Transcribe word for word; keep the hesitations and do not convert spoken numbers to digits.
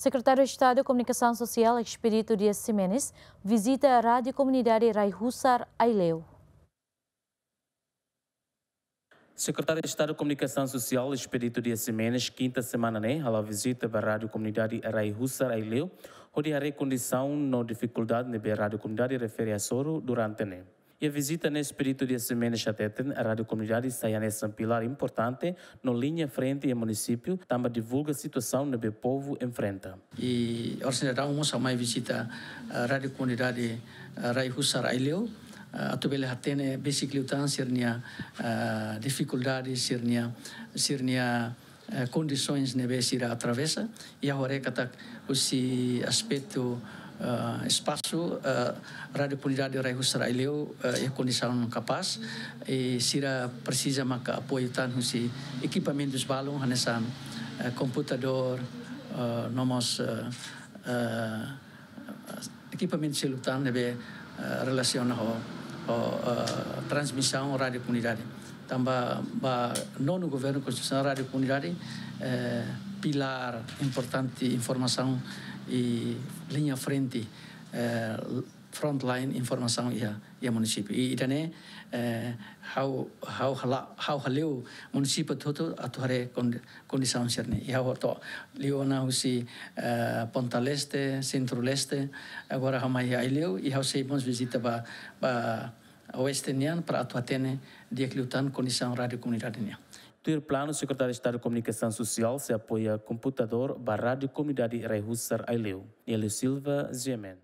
Sekretáriu Estadu Komunikasaun Sosiál Expedito Dias Ximenes vizita Rádiu Komunidade Rai Husar, Aileu. Sekretáriu Estadu Komunikasaun Sosiál Expedito Dias Ximenes, kinta semana ne'e, hala'o vizita ba Rádiu Komunidade Rai Husar, Aileu, hodi haree kondisaun no difikuldade ne'ebé rádiu komunidade refere hasoru durante ne'e. Iha vizita ne'e Expedito Dias Ximenes hateten, rádiu komunidade sai hanesan pilár importante no liña frente iha munisípiu, tanba divulga situasaun ne'ebé povu enfrenta. I oras ne'e daudaun mós ha'u mai vizita, eh, Rádiu Komunidade, eh, Rai Husar, Aileu, eh, atu bele hatene besik liután sira-nia, eh, difikuldade, sira-nia, sira-nia, eh, kondisoens ne'ebé sira atravesa, i ha'u haree katak husi aspetu, eh, espasu, eh, Rádiu Komunidade Rai Husar, Aileu, eh, iha kondisaun kapás, i sira presiza maka apoiu tan husi ekipamentus balun hanesan, eh, komputadór, eh, no mós, eh, eh, ekipamentu seluk tan ne'ebé, eh, relasiona ho, ho, eh, transmisaun rádiu komunidade. Tanba ba nonu governu konstitusionál rádiu komunidade, eh, pilár importante informasaun i liña frente, eh, frontline informasaun iha, iha munisípiu. I ida-ne'e, eh, ha'u, ha'u hala-, ha'u hale'u munisípiu hotu-hotu atu haree kondi-, kondisaun sira-ne'e. I ha'u to'o liu ona husi, eh, Ponta Leste, Sentru Leste, agora ha'u mai iha Aileu, i ha'u sei mós vizita ba, ba Oeste nian para atu hatene di'ak liután kondisaun rádiu komunidade nian. Tuir planu, Sekretáriu Estadu Komunikasaun Sosiál sei apoia komputadór ba Rádiu Komunidade Rai Husar, Aileu. Nélio Silva, G M N.